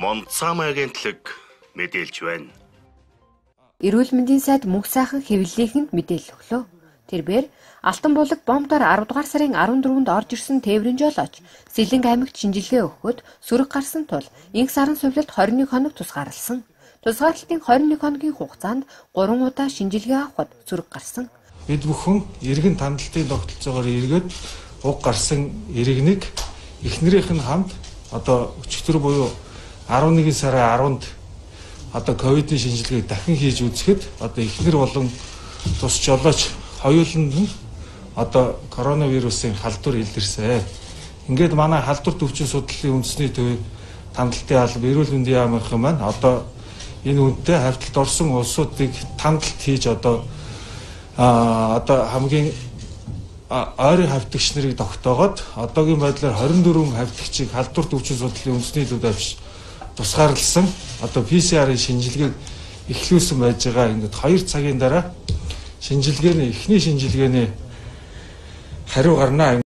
Монцам агентлаг мэдээлж байна. Эрүүл мэндийн сайд мөнх сайхан хэвлэлийнхэнд мэдээлэл өглөө. Тэрээр Алтан булаг бомбоор 10 дугаар сарын 14-нд орж ирсэн тээврийн жолооч Сэлэнг аймагт шинжилгээ өгөхөд сөрөг гарсан тул инх сарын сувлалт 21 хоног тусгаарлсан. Тусгаарлалтын 21 хоногийн хугацаанд 3 удаа шинжилгээ авахд сөрөг гарсан. Бид бүхэн иргэн тандалтын тогтолцоогоор эргээд уг гарсан иргэнийг эхнэрийнх нь хамт одоо өчигдөр буюу 11 сарын 10-нд одоо ковидын шинжилгээг дахин хийж үзэхэд одоо эхнэр болон тус жолооч хоёуланд нь одоо коронавирусын халдвар илэрсэн. Ингээд манай халдвар төвчин судлалын үндэсний төвийн тандалтын алба эрүүл мэндийн яамынхан маань одоо энэ үнэтэй хавьталд орсон улсуудыг тандалт хийж одоо хамгийн ойрын хавьтагч нарыг тогтоогоод одоогийн байдлаар 24 хавьтагчийг халдвар төвчин судлалын үндэсний төвд авч тусгаарласан одоо PCR-ийн шинжилгээг эхлүүлсэн байж байгаа. Ингээд 2 цагийн дараа эхний шинжилгээний хариу гарнаа.